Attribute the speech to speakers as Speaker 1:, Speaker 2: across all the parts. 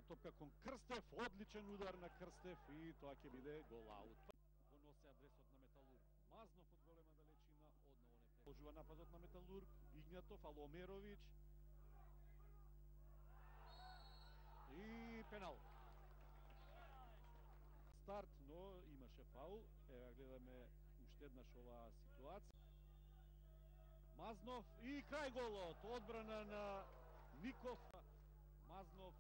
Speaker 1: топка кон Крстев, одличен удар на Крстев и тоа ќе биде гол аут. Го носи адресот на Металург. Мазнов од голема далечина, одново не продолжува нападот на Металург. Игнатов, Аломерович. И пенал. Старт, но имаше фаул. Ева гледаме уште еднаш оваа ситуација. Мазнов и крај голот. Одбрана на Ников. Мазнов.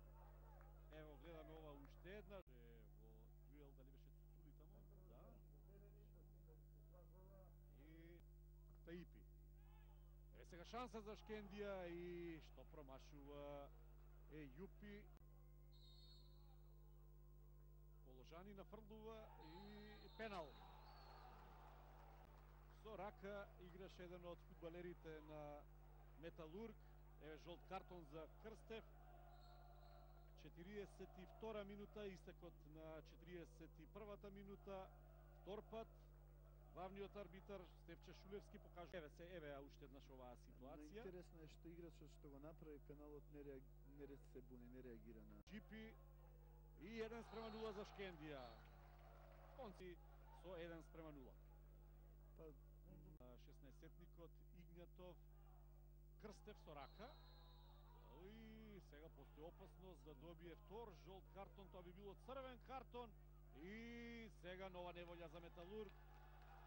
Speaker 1: Ево гледаме ова уште еднаш. Во дуел дали беше Цуцули тамо? Да. И Таипи. Еве сега шанса за Шкендија и што промашува Јупи. Положани нафрлува и пенал. Со рака играше еден од фудбалерите на Металург. Еве жолт картон за Крстев. 42 минута, истекот на 41-та минута. Втор пат главниот арбитар Стефче Шулевски покажува еве уште еднаш оваа ситуација.
Speaker 2: Интересно е што играчот што го направи пеналот не се буни, не реагира на
Speaker 1: Джипи и 1:0 за Шкендија. Конци со 1:0.
Speaker 2: Па
Speaker 1: 16-тникот Игнатов, Крстев со рака. И сега постои опасност да добие втор жолт картон, тоа би било црвен картон. И сега нова неволја за Металург.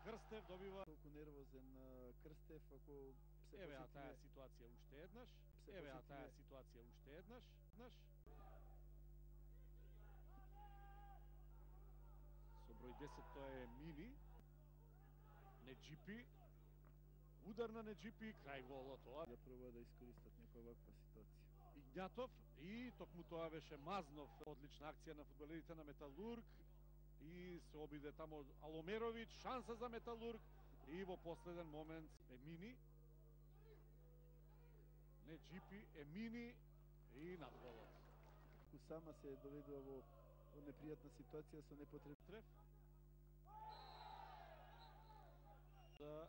Speaker 1: Крстев добива.
Speaker 2: Толку нервозен Крстев, ако се
Speaker 1: еве таа ситуација уште еднаш. Еве таа ситуација уште еднаш. Со број 10 тоа е Мини. Неджипи. Удар на Неджипи, крај голот.
Speaker 2: Да проба да искористат некоја ваква ситуација.
Speaker 1: Игнатов и токму тоа беше Мазнов. Одлична акција на фудбалерите на Металург. И се обиде тамо Аломерович, шанса за Металург и во последен момент Емини. Неджипи, Емини и надголот.
Speaker 2: Сама се доведува во непријатна ситуација со непотребен
Speaker 1: треф. За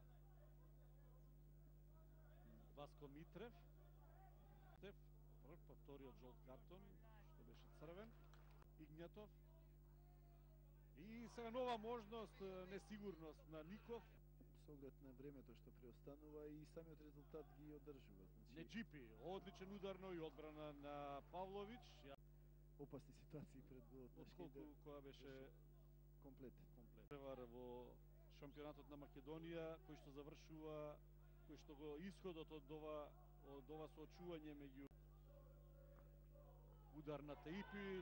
Speaker 1: Васко Митрев. Прв, вториот жолт картон, што беше црвен. Игнатов. И сега нова можност, несигурност на Ников.
Speaker 2: Со оглед на времето што преостанува и самиот резултат ги одржува.
Speaker 1: Неджипи, одличен ударно и одбрана на Павлович.
Speaker 2: Опасни ситуации пред голот на Шкендија.
Speaker 1: Која беше
Speaker 2: комплет.
Speaker 1: Превар во шампионатот на Македонија, кој што завршува, кој што го исходот од ова соочување меѓу удар на Таипи.